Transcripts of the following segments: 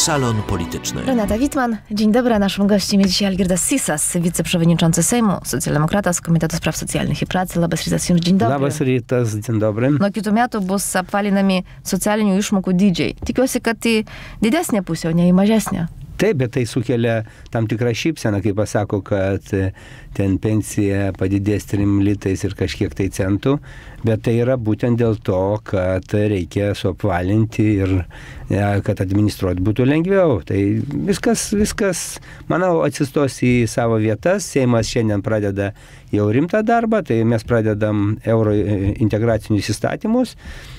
Salon Polityczny. Renata Wittmann, dzień dobry. Naszym gościem jest dzisiaj Algirdas Sysas, wiceprzewodniczący Sejmu, socjaldemokrata z Komiteto Spraw Socialnych i Pracy. Labas rytas jums, dzień dobry. Labas rytas, dzień dobry. Nuo kitų metų bus apvalinami socialinių išmokų dydžiai. Tikiuosi, kad į didesnę pusę, o ne į mažesnę. Taip, bet tai sukelia tam tikrą šypseną, kai pasako, kad ten pensija padidės 3 litais ir kažkiek tai centų, bet tai yra būtent dėl to, kad reikia suapvalinti ir kad administruoti būtų lengviau. Tai viskas, manau, atsistos į savo vietas. Seimas šiandien pradeda jau rimtą darbą, tai mes pradedam euro integracinius įstatymus,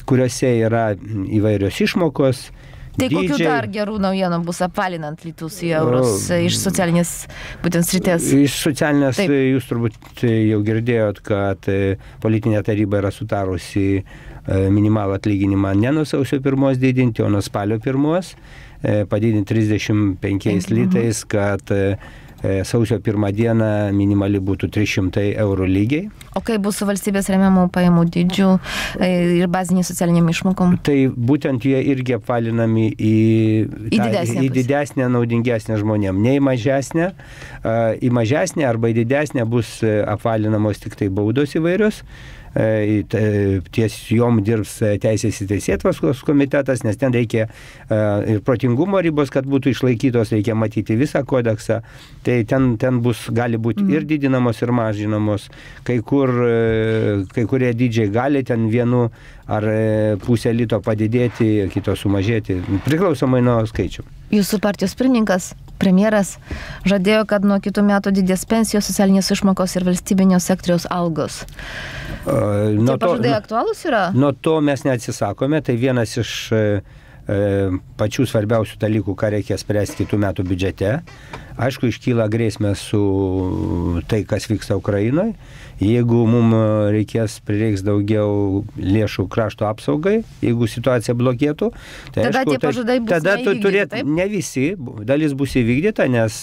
kuriuose yra įvairios išmokos. Tai kokių dar gerų naujienų bus apvalinant litus į eurus iš socialinės būtent srities? Iš socialinės, taip. Jūs turbūt jau girdėjot, kad politinė taryba yra sutarusi minimalų atlyginimą ne nuo sausio 1 didinti, o nuo spalio 1 padidinti 35 litais, kad sausio 1 dieną minimali būtų 300 eurų lygiai. O kai bus su valstybės remiamų pajamų dydžių ir baziniai socialiniam išmokom? Tai būtent jie irgi apvalinami į didesnę, naudingesnę žmonėm. Ne į mažesnę. Į mažesnę arba į didesnę bus apvalinamos tik tai baudos įvairios. Ties jom dirbs Teisės ir Teisėtvarkos komitetas, nes ten reikia ir protingumo ribos, kad būtų išlaikytos, reikia matyti visą kodeksą. Tai ten gali būti ir didinamos, ir mažinamos. Kai kurie dydžiai gali ten vienu ar pusę lito padidėti, kito sumažėti, priklausomai nuo skaičių. Jūsų partijos pirmininkas, premjeras, žadėjo, kad nuo kitų metų didės pensijos, socialinės išmokos ir valstybinio sektoriaus algos. Tai pažadai aktualūs yra? Nuo to mes neatsisakome, tai vienas iš pačių svarbiausių dalykų, ką reikia spręsti kitų metų biudžete. Aišku, iškyla grėsmė su tai, kas vyksta Ukrainoje. Jeigu mums prireiks daugiau lėšų krašto apsaugai, jeigu situacija blogėtų, tai tada aišku, tie pažadai bus neįvykdyti, ne visi, dalis bus įvykdyta, nes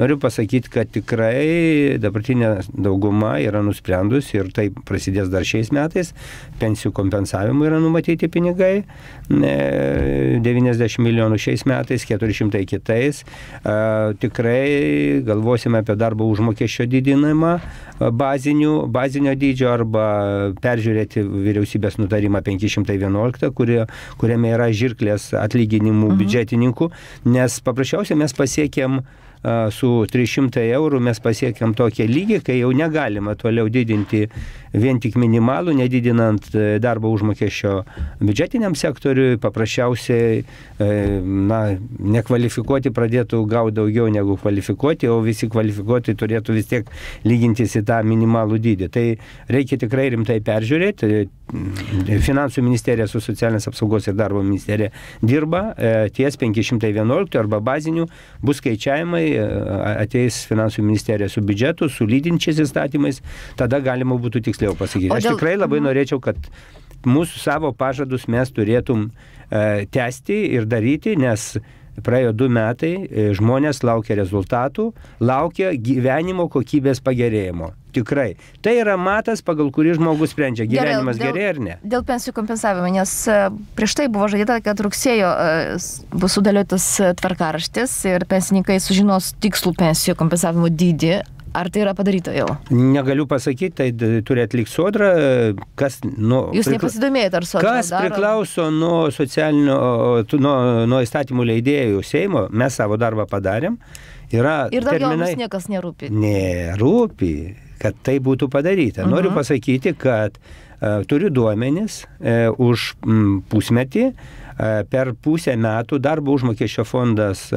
noriu pasakyti, kad tikrai dabartinė dauguma yra nusprendus ir tai prasidės dar šiais metais. Pensijų kompensavimui yra numatyti pinigai, 90 milijonų šiais metais, 400 kitais. Tikrai galvosime apie darbo užmokesčio didinimą bazinio dydžio arba peržiūrėti vyriausybės nutarimą 511, kuriame yra žirklės atlyginimų biudžetininkų, nes paprasčiausiai mes pasiekėm su 300 eurų mes pasiekėm tokią lygį, kai jau negalima toliau didinti vien tik minimalų, nedidinant darbo užmokesčio biudžetiniam sektoriui, paprasčiausiai nekvalifikuoti pradėtų gauti daugiau negu kvalifikuoti, o visi kvalifikuoti turėtų vis tiek lygintis į tą minimalų dydį. Tai reikia tikrai rimtai peržiūrėti. Finansų ministerija su socialinės apsaugos ir darbo ministerija dirba ties 511 arba bazinių, bus skaičiavimai, ateis finansų ministerija su biudžetu, su lydinčiais įstatymais, tada galima būtų tiksliau pasakyti. Aš tikrai labai norėčiau, kad mūsų savo pažadus mes turėtum tęsti ir daryti, nes praėjo 2 metai, žmonės laukia rezultatų, laukia gyvenimo kokybės pagerėjimo. Tikrai. Tai yra matas, pagal kurį žmogus sprendžia, gyvenimas gerėja ar ne. Dėl pensijų kompensavimo, nes prieš tai buvo žadėta, kad rugsėjo bus sudėliotas tvarkaraštis ir pensininkai sužinos tikslų pensijų kompensavimo dydį. Ar tai yra padaryta jau? Negaliu pasakyti, tai turi atlikti Sodra. Jūs nepasidomėjate, ar Sodra kas priklauso nuo socialinio, nuo įstatymų leidėjų Seimo, mes savo darbą padarėm. Ir daugiau jums niekas nerūpi? Nerūpi, kad tai būtų padaryta. Noriu pasakyti, kad turiu duomenis už pusmetį. Per pusę metų darbo užmokesčio fondas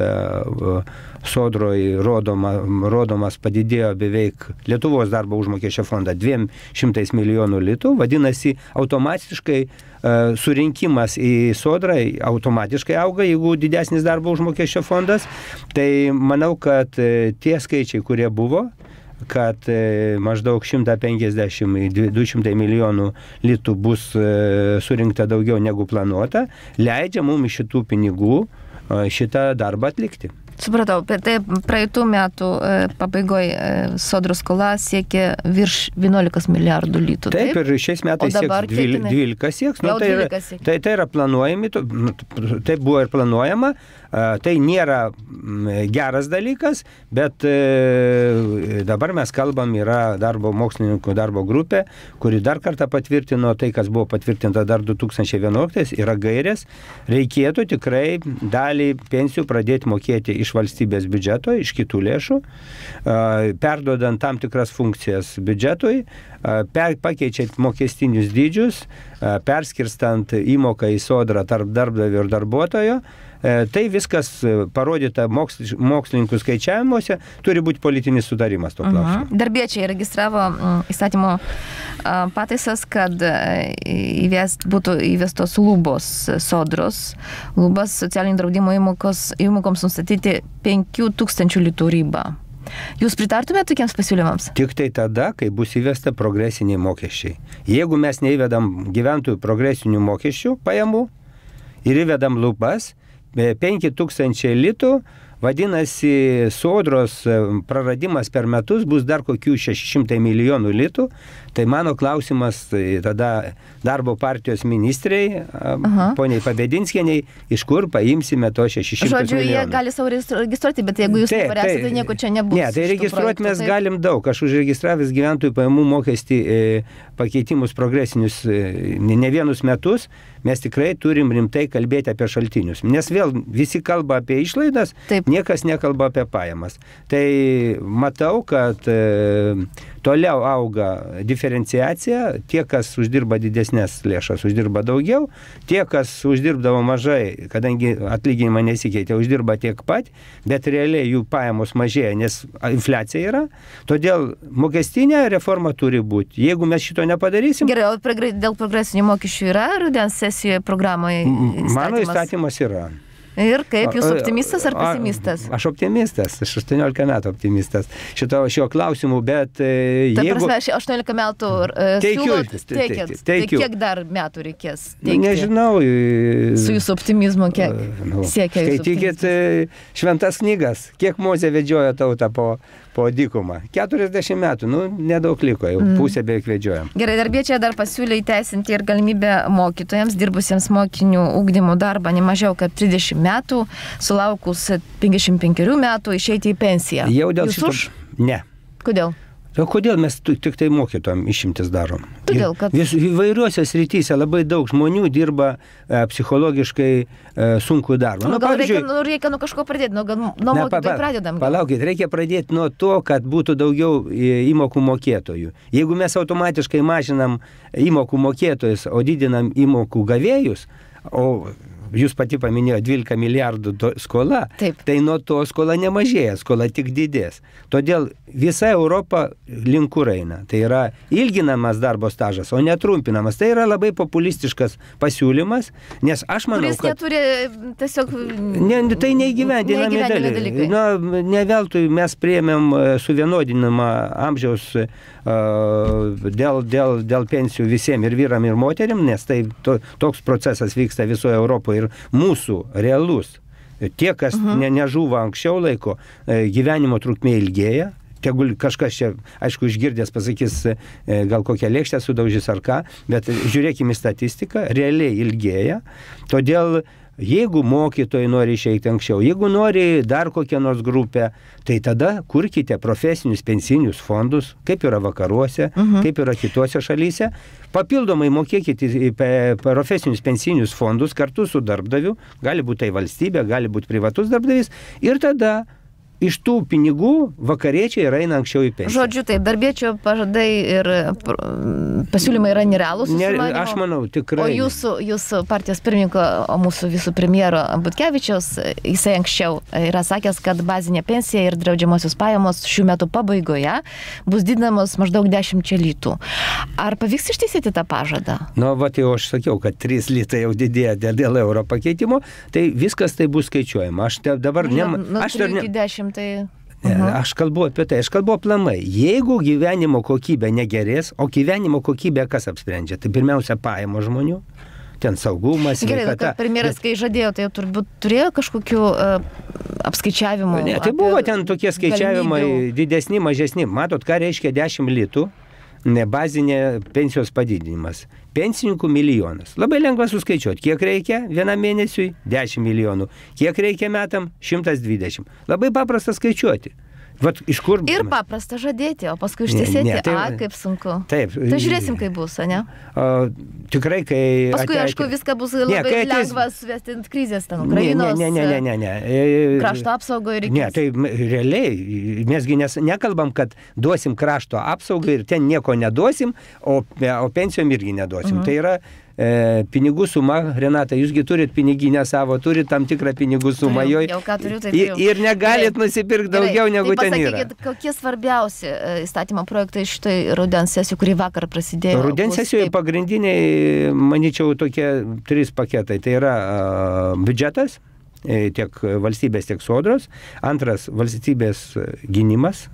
Sodroje rodomas padidėjo beveik Lietuvos darbo užmokesčio fondą 200 milijonų litų. Vadinasi, automatiškai surinkimas į Sodrą automatiškai auga, jeigu didesnis darbo užmokesčio fondas. Tai manau, kad tie skaičiai, kurie buvo, kad maždaug 150-200 milijonų litų bus surinkta daugiau negu planuota, leidžia mums iš šitų pinigų šitą darbą atlikti. Supratau, tai praeitų metų pabaigoje sodros skola siekia virš 11 milijardų litų. Taip, ir šiais metais sieks 12 sieks. Nu, tai yra planuojami, taip buvo ir planuojama. Tai nėra geras dalykas, bet dabar mes kalbam, yra mokslininkų darbo grupė, kuri dar kartą patvirtino tai, kas buvo patvirtinta dar 2011, yra gairės. Reikėtų tikrai dalį pensijų pradėti mokėti iš valstybės biudžeto, iš kitų lėšų, perduodant tam tikras funkcijas biudžetui, pakeičiant mokestinius dydžius, perskirstant įmoką į sodrą tarp darbdavio ir darbuotojo. Tai viskas parodyta mokslininkų skaičiavimuose, turi būti politinis sutarimas to klausimu. Darbiečiai registravo įstatymo pataisas, kad būtų įvestos lubos sodros, lubas socialinio draudimo įmokoms nustatyti 5000 litų ribą. Jūs pritartumėte tokiems pasiūlymams? Tik tai tada, kai bus įvesta progresiniai mokesčiai. Jeigu mes neįvedam gyventojų progresinių mokesčių pajamų ir įvedam lubas, 5000 litų, vadinasi, sodros praradimas per metus bus dar kokių 600 milijonų litų. Tai mano klausimas tada darbo partijos ministrei, poniai Pabedinskienei, iš kur paimsime to 600 milijonų. Žodžiu, jie gali savo registruoti, bet jeigu jūs nepareksite, tai nieko čia nebus. Ne, tai registruoti mes galim daug. Aš užregistravęs gyventojų pajamų mokestį pakeitimus progresinius ne vienus metus, mes tikrai turim rimtai kalbėti apie šaltinius. Nes vėl visi kalba apie išlaidas, niekas nekalba apie pajamas. Tai matau, kad toliau auga diferenciacija, tie, kas uždirba didesnės lėšas, uždirba daugiau, tie, kas uždirbdavo mažai, kadangi atlyginimą nesikeitė, uždirba tiek pat, bet realiai jų pajamos mažėja, nes infliacija yra. Todėl mokestinė reforma turi būti. Jeigu mes šito nepadarysim... Gerai, o dėl progresinių mokesčių yra rudens sesijoje programoje įstatymas? Mano įstatymas yra. Ir kaip, jūs optimistas ar pesimistas? Aš optimistas, aš 18 metų optimistas šio klausimu, bet jeigu... Ta prasme, 18 metų teikiat. Tai kiek dar metų reikės teikti? Nežinau. Su jūsų optimizmu, kiek siekia jūsų optimizmas? Skaitykit šventas knygas, kiek Mozė vedžiojo tautą po dykumą. 40 metų, nedaug liko, jau pusę beveik vedžiojam. Gerai, darbiečiai dar pasiūlė įteisinti ir galimybę mokytojams, dirbusiems mokinių ugdymo darbą nemažiau kaip 30 metų, sulaukus 55 metų išeiti į pensiją. Jau dėl Jūs šito? Už? Ne. Kodėl? O kodėl mes tik tai mokytojam išimtis darom? Todėl, kad... Įvairiuose srityse labai daug žmonių dirba psichologiškai sunkų darbą. Reikia nuo kažko pradėti, nuo mokytojų pradedam. Palaukit, reikia pradėti nuo to, kad būtų daugiau įmokų mokėtojų. Jeigu mes automatiškai mažinam įmokų mokėtojus, o didinam įmokų gavėjus, o jūs pati paminėjo 12 milijardų skola, tai nuo to skola nemažėja, skola tik didės. Todėl visa Europa link kur eina. Tai yra ilginamas darbo stažas, o netrumpinamas. Tai yra labai populistiškas pasiūlymas, nes aš manau, kuris neturi tiesiog... Tai neįgyvendinami dalykai. Ne veltui mes priėmėm suvienodinimą amžiaus dėl pensijų visiems ir vyram ir moteriam, nes tai toks procesas vyksta visoje Europoje ir mūsų realus. Tie, kas nežuvo anksčiau laiko, gyvenimo trukmė ilgėja. Tegul kažkas čia, aišku, išgirdęs pasakys, gal kokią lėkštę sudaužys ar ką, bet žiūrėkime į statistiką, realiai ilgėja. Todėl jeigu mokytojai nori išeiti anksčiau, jeigu nori dar kokią nors grupę, tai tada kurkite profesinius pensinius fondus, kaip yra vakaruose, kaip yra kitose šalyse. Papildomai mokėkite į profesinius pensinius fondus kartu su darbdaviu, gali būti tai valstybė, gali būti privatus darbdavys, ir tada iš tų pinigų vakariečiai eina anksčiau į pensiją. Žodžiu, taip, darbiečio pažadai ir pasiūlymai yra nerealūs. Aš manau, tikrai. O jūsų partijos pirmininko, o mūsų visų premjero Butkevičiaus, jisai anksčiau yra sakęs, kad bazinė pensija ir draudžiamosios pajamos šių metų pabaigoje bus didinamos maždaug 10 litų. Ar pavyks ištaisyti tą pažadą? Jau aš sakiau, kad 3 litai jau didėja dėl euro pakeitimo, tai viskas tai bus skaičiuojama. Aš dabar Aš kalbu apie tai, aš kalbu aplamai. Jeigu gyvenimo kokybė negerės, o gyvenimo kokybė kas apsprendžia? Tai pirmiausia pajamos žmonių, ten saugumas, sveikata. Gerai, kad premjeras, kai žadėjo, tai turbūt turėjo kažkokių apskaičiavimų. Ne, tai buvo ten tokie skaičiavimai didesni, mažesni. Matot, ką reiškia 10 litų bazinė pensijos padidinimas. Pensininkų milijonas. Labai lengva suskaičiuoti. Kiek reikia vienam mėnesiui? 10 milijonų. Kiek reikia metam? 120. Labai paprasta skaičiuoti. Vat, iš kur... Ir paprasta žadėti, o paskui ištesėti, kaip sunku. Taip. Tai žiūrėsim, kaip bus, ne? Tikrai, kai... Paskui, aišku, viską bus labai lengva suvesti ant krizės, ten Ukrainos... Ne. Krašto apsaugo ir reikės. Ne, tai realiai, mesgi nekalbam, kad duosim krašto apsaugą ir ten nieko neduosim, o pensijom irgi neduosim. Tai yra pinigų suma, Renata, jūsgi turit piniginę savo, turit tam tikrą pinigų sumą joj. Jau ką turiu, tai turiu. Ir negalit nusipirkti daugiau negu ten yra. Pasakykit, kokie svarbiausi įstatymo projektai šitai rudens sesijų, kurį vakar prasidėjo? Rudens sesijoje pagrindiniai, manyčiau, tokie 3 paketai. Tai yra biudžetas, tiek valstybės, tiek sodros. Antras, valstybės gynimas,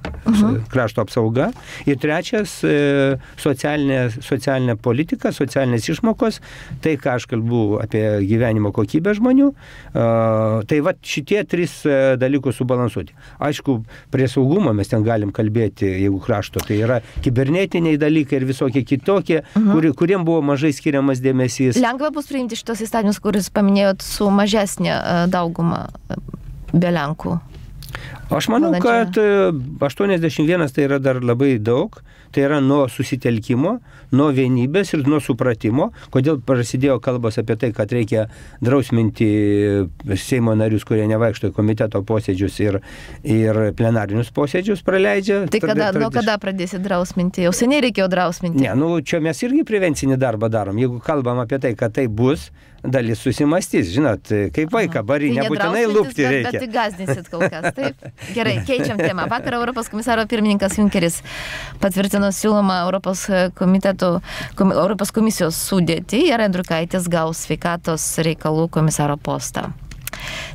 krašto apsauga. Ir trečias, socialinė politika, socialinės išmokos. Tai, ką aš kalbu apie gyvenimo kokybę žmonių. Tai va šitie 3 dalykus subalansuoti. Aišku, prie saugumo mes ten galim kalbėti, jeigu krašto. Tai yra kibernetiniai dalykai ir visokie kitokie, kuriem buvo mažai skiriamas dėmesys. Lengva bus priimti šitos įstatymus, kuris paminėjot su mažesnė dauguma be Lenkų. Aš manau, kad 81 tai yra dar labai daug. Tai yra nuo susitelkimo, nuo vienybės ir nuo supratimo. Kodėl prasidėjo kalbos apie tai, kad reikia drausminti Seimo narius, kurie nevaikšto į komiteto posėdžius ir plenarinius posėdžius praleidžia. Tai nuo kada pradėsit drausminti? Jau seniai reikėjo drausminti. Ne, čia mes irgi prevencinį darbą darom. Jeigu kalbam apie tai, kad tai bus, dalis susimastys. Žinot, kaip vaiką bari, tai nebūtinai lūpti reikia. Bet įgazdinsit kol kas, taip? Gerai, keičiam temą. Vakar Europos komisaro pirmininkas Junkeris patvirtino siūlomą Europos komisijos sudėtį ir Andriukaitis gaus sveikatos reikalų komisaro postą.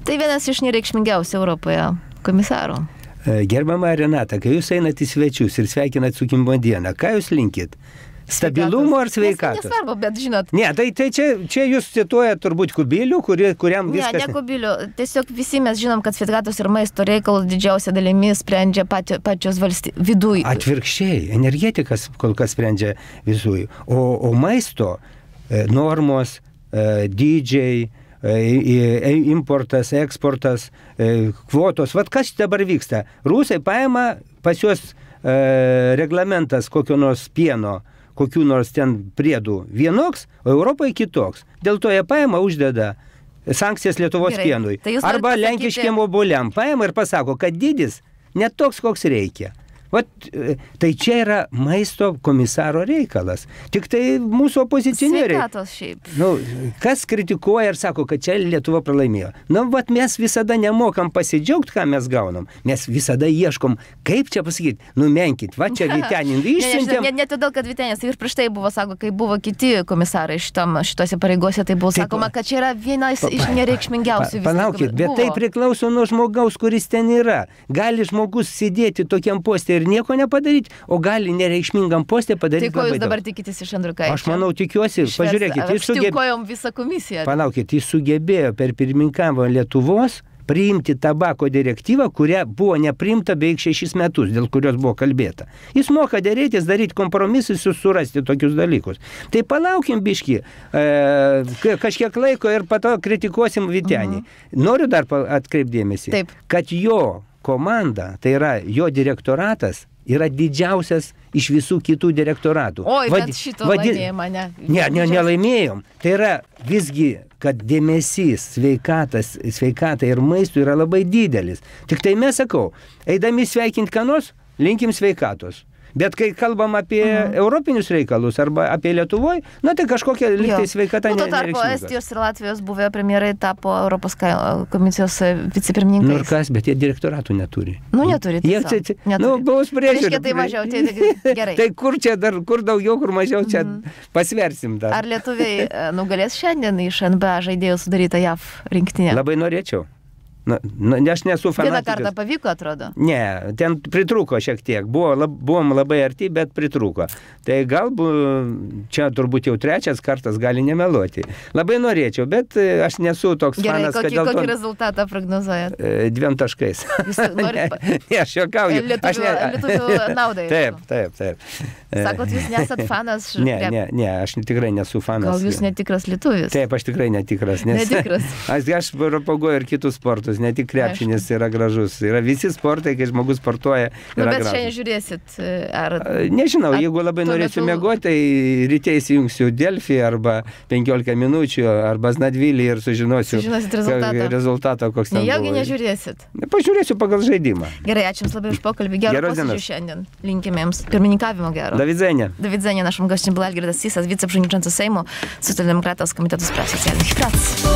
Tai vienas iš nereikšmingiausių Europoje komisarų. Gerbiama Renata, kai jūs einat į svečius ir sveikinat su gimimo dieną, ką jūs linkit? Stabilumo ar sveikatos? Nesvarbu, bet žinot. Ne, tai čia jūs cituojat turbūt Kubilių, kuriam viskas... Ne Kubilių. Tiesiog visi mes žinom, kad sveikatos ir maisto reikalus didžiausia dalimi sprendžia pačios viduj. Atvirkščiai, energetikas kol kas sprendžia visui. O maisto normos, dydžiai, importas, eksportas, kvotos. Vat kas dabar vyksta? Rusai paima pas juos reglamentas kokio nors pieno, kokių nors ten priedų vienoks, o Europoje kitoks. Dėl to jie paima, uždeda sankcijas Lietuvos pienui. Tai arba lenkiškiem obuoliam paima ir pasako, kad dydis ne toks, koks reikia. Vat, tai čia yra maisto komisaro reikalas. Tik tai mūsų opozicionieriai. Sveikatos šiaip. Kas kritikuoja ir sako, kad čia Lietuva pralaimėjo. Vat mes visada nemokam pasidžiaugti, ką mes gaunam. Mes visada ieškom, kaip čia pasakyti, numenkit, va čia Vytenin išsiuntėm. Ne todėl, kad Vytenis ir prieš tai buvo, sako, kai buvo kiti komisarai šitose pareigose, tai buvo sakoma, kad čia yra vienas iš nereikšmingiausių. Palaukit, bet tai priklauso nuo žmogaus, kuris ten yra. Gali žmogus sėdėti tokiam postė ir nieko nepadaryti, o gali nereikšmingam postė padaryti labai daug. Tai ko jūs dabar tikitės iš Andriukaičio? Aš manau, tikiuosi, pažiūrėkit, jis sugebėjo per pirmininkavimą Lietuvos priimti tabako direktyvą, kuria buvo nepriimta beveik 6 metus, dėl kurios buvo kalbėta. Jis moka dėrėtis, daryti kompromisus ir surasti tokius dalykus. Tai palaukim biškį, kažkiek laiko ir po to kritikuosim Vytenį. Noriu dar atkreipdėmėsi, kad jo komanda, tai yra jo direktoratas, yra didžiausias iš visų kitų direktoratų. Oi, bet šito laimėjimą ne. Nelaimėjom. Tai yra visgi, kad dėmesys sveikatai ir maistui yra labai didelis. Tik tai mes sakau, eidami sveikinti ką nors, linkim sveikatos. Bet kai kalbam apie europinius reikalus arba apie Lietuvoj, tai kažkokia lygtai sveikata nereikšminga. Tuo tarpu Estijos ir Latvijos buvę premjerai tapo Europos komisijos vicepirmininkais. Ir kas, bet jie direktoratų neturi. Neturi. Bus priežiūrė. Reiškia, tai mažiau, tai gerai. Tai kur daugiau, kur mažiau, čia pasversim dar. Ar lietuviai nugalės šiandien iš NBA žaidėjų sudarytą JAV rinktinę? Labai norėčiau. Aš nesu fanatikas. Vieną kartą pavyko, atrodo? Ne, ten pritrūko šiek tiek. Buvom labai arti, bet pritrūko. Tai galbūt čia turbūt jau trečias kartas gali nemeluoti. Labai norėčiau, bet aš nesu toks Gerai, fanas, kokį rezultatą prognozuojat? 2 taškais. Jūs norit Ne, aš juokauju. Lietuvių naudai. Taip. Sakot, jūs nesat fanas? Ne, aš tikrai nesu fanas. Gal jūs netikras lietuvis? Taip, aš tikrai netikras. Netikras. Aš propaguoju ir kitus sportus, ne tik krepšinis yra gražus. Yra visi sportai, kai žmogus sportuoja, yra bet gražus. šiandien žiūrėsit? Nežinau, jeigu labai norėsiu miegoti, tai ryte įsijungsiu Delfį arba 15 minučių, arba Znadvilį ir sužinosiu rezultatą, koks ten buvo. Nejaugi nežiūrėsit? Pažiūrėsiu pagal žaidimą. Gerai, ačiū Jums labai už pokalbį. Gero posėdžio šiandien. Linkime Jums pirmininkavimo gero. Do widzenia. Do widzenia. Naszym gościem był Algirdas Sysas, wiceprzewodniczący Sejmu, Socjaldemokrata z Komitetu Spraw Socjalnych i Pracy.